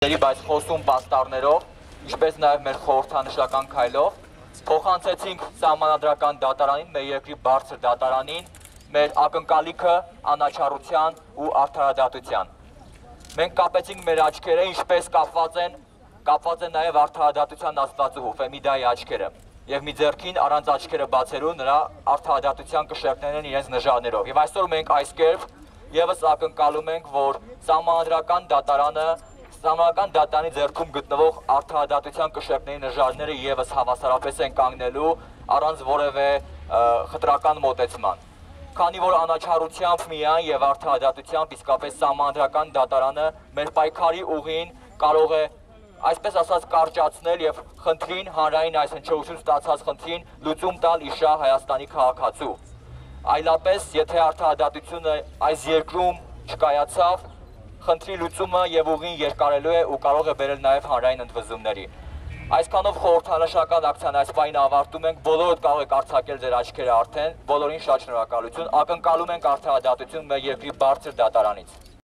Բայց խոսում պաստառներով, ինչպես նաև մեր խորհրդանշական քայլով, փոխանցեցինք սահմանադրական դատարանին, մեր երկրի բարձր դատարանին, մեր ակնկալիքը անաչառության ու արդարադատության։ Մենք կապեցինք մեր աչքերը, ինչպես կապված են նաև արդարադատության աստվածուհու Ֆեմիդայի աչքերը, եւ մի ձեռքին առանց աչքերը բացելու նրա արդարադատության կշեռքներն են իրենց նժարներով։ Եվ այսօր մենք այս կերպ եւս ակնկալում ենք, որ սահմանադրական դատարանի ձեռքում գտնվող արդարադատության կշեռքների նժարները եւս հավասարապես են կանգնելու առանց որևէ խտրական մոտեցման։ Քանի որ անաչառությամբ միայն եւ արդարադատությամբ իսկապես սահմանադրական դատարանը մեր պայքարի ուղին կարող է, այսպես ասած, կարճացնել եւ խնդրին հանրային այս հնչողություն ստացած խնդրին լուծում տալ իշահ Հայաստանի քաղաքացու։ Այլապես, եթե արդարադատությունը այս երկրում չկայացավ, խնդրի լուծումը եւ ուղին երկարելու է ու կարող է բերել նաեւ հանրային ընդվզումների։ Այսքանով խորհրդանշական ակցիան այս պահին ավարտում ենք, բոլորդ կարող եք արձակել ձեր աչքերը արդեն, բոլորին շատ շնորհակալություն, ակնկալում ենք արդարադատություն մեր երկրի բարձր դատարանից։